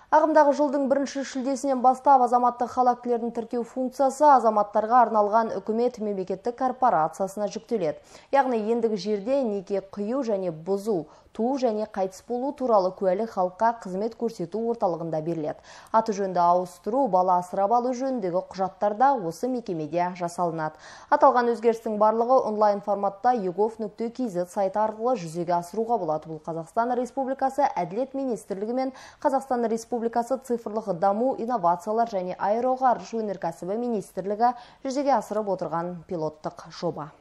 Ағымдағы жылдың 1 шілдесінен бастап азаматтық хал актілерін тіркеу функциясы азаматтарға арналған үкімет мемлекеттік корпорациясына жүктеледі. Яғни ендігі жерде неке қию және бұзу, туу және қайтыс болу туралы куәлік халыққа қызмет көрсету орталығында беріледі. Аты жөнді ауыстыру, бала асырап алу жөніндегі құжаттарда осы мекемеде жасалынады. Аталған өзгерістің барлығы онлайн форматта egov.kz сайты арқылы жүзеге асыруға болады. Бұл Қазақстан Республикасы Әділет министрлігі мен Қазақстан Республикасы цифрлық даму, инновациялар және аэроғарыш өнеркәсібі министрлігі жүзеге асырып отырған пилоттық жоба.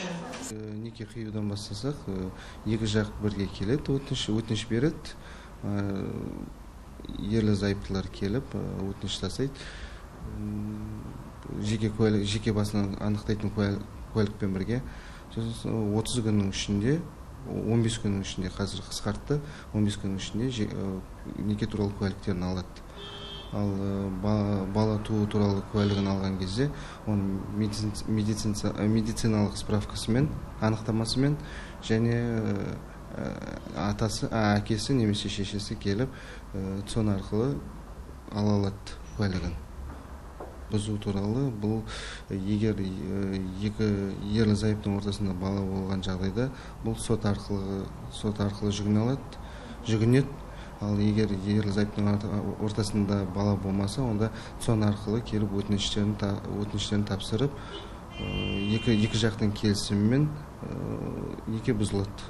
Неке қиюдан бастасақ, екі жақ бірге келеді, өтініш береді, ерлі зайыптылар келіп, өтініш тастайды. Жеке басынан анықтайтын куәлікпен бірге 30 күннің ішінде, 15 күннің ішінде, қазір қысқартты, 15 күннің ішінде неке туралы куәліктерін алады. Ал бала туу туралы куәлігін алған кезде, оның медициналық справкасымен, анықтамасымен және әкесі немесе шешесі келіп, сон арқылы ала алады куәлігін. Бұзу туралы, бұл егер екі ерлі зайыптың ортасында бала болған жағдайда, бұл сот арқылы жүгінеді. Ал егер ерлі зайыптың ортасында бала болмаса, онда сон арқылы келіп өтініштерін тапсырып, екі жақтың келісімімен неке бұзылады.